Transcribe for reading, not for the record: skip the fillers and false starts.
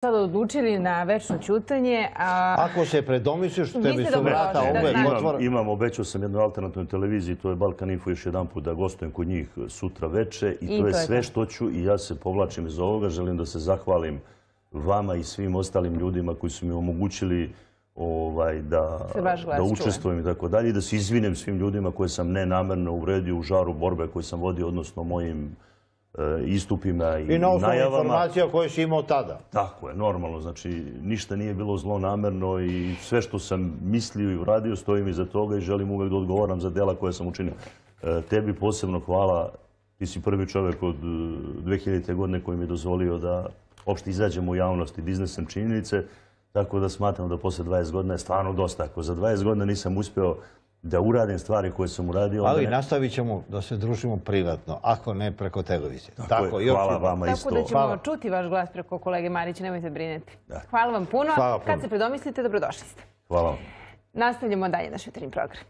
sad odlučili na večno ćutanje. Ako se predomisliš, tebi su vrata uvek otvora. Obećao sam jednoj alternativnoj televiziji, to je Balkan Info, još jedan put da gostujem kod njih sutra veče i to je sve što ću i ja se povlačim iz ovoga. Želim da se zahvalim vama i svim ostalim ljudima koji su mi omogućili da učestvujem i tako dalje i da se izvinem svim ljudima koje sam nenamerno uvredio u žaru borbe koje sam vodio, odnosno mojim istupima i najavama. I na osnovu informacija koje si imao tada. Tako je, normalno. Znači, ništa nije bilo zlonamerno i sve što sam mislio i uradio stojim iza toga i želim uvek da odgovaram za dela koje sam učinio. Tebi posebno hvala. Ti si prvi čovek od 2000. godine koji mi je dozvolio da uopšte izađemo u javnost i da iznesem činjenice. Tako da smatram da posle 20 godina je stvarno dosta. Ako za 20 godina nisam uspeo da uradim stvari koje sam uradio... Ali nastavit ćemo da se družimo privatno, ako ne preko televizije. Tako je, hvala vama isto. Tako da ćemo čuti vaš glas preko kolege Marića, nemojte brineti. Hvala vam puno. Kad se predomislite, dobrodošli ste. Hvala vam. Nastavljamo dalje naš jutarnji program.